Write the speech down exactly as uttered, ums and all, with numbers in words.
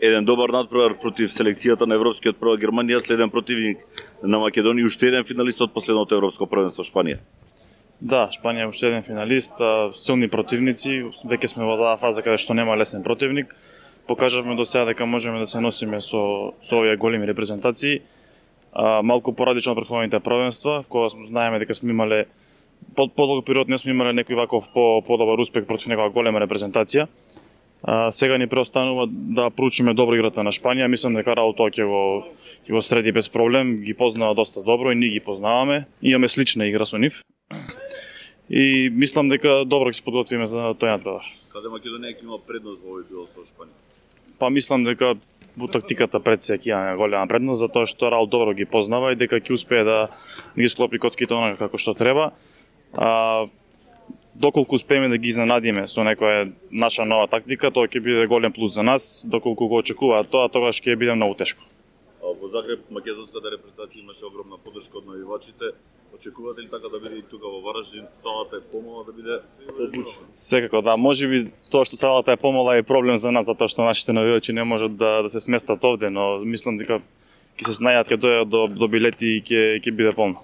Еден добар надпревар против селекцијата на европскиот прва Германија, следен противник на Македонија, уште еден финалист од последното европско првенство Шпанија. Да, Шпанија е уште еден финалист, силни противници, веќе сме во таа фаза каде што нема лесен противник. Покажавме до сега дека можеме да се носиме со со овие големи репрезентации. А, малку порадично од претходните првенства, кога знаеме дека сме имале под подолг период не сме имале некој ваков по подобар успех против некоја голема репрезентација. А, сега ни преостанува да проучиме добро играта на Шпанија. Мислам дека Раул ќе го ќе го среди без проблем, ги познава доста добро и ние ги познаваме. Имаме слична игра со нив. И мислам дека добро ќе се подготвиме за тој надпревар. Каде Македонија ќе има предност во овој дуел со Шпанија? Па мислам дека во тактиката пред се ќе има голема предност, затоа што Раул добро ги познава и дека ќе успее да ги склопи коцките онака како што треба. А, доколку успееме да ги изненадиме со некоја наша нова тактика, тоа ќе биде голем плюс за нас. Доколку го очекуваат тоа, тогаш ќе биде многу тешко. Во Загреб македонската репрезентација имаше огромна поддршка од навивачите. Очекувате ли така да биде и тука во Вараждин? Салата е помала да биде побучна? Секако да, можеби тоа што салата е помала е проблем за нас, затоа што нашите навивачи не можат да, да се сместат овде, но мислам дека ќе се снајдат, ќе дојдат до, до билети и ќе ќе биде полно.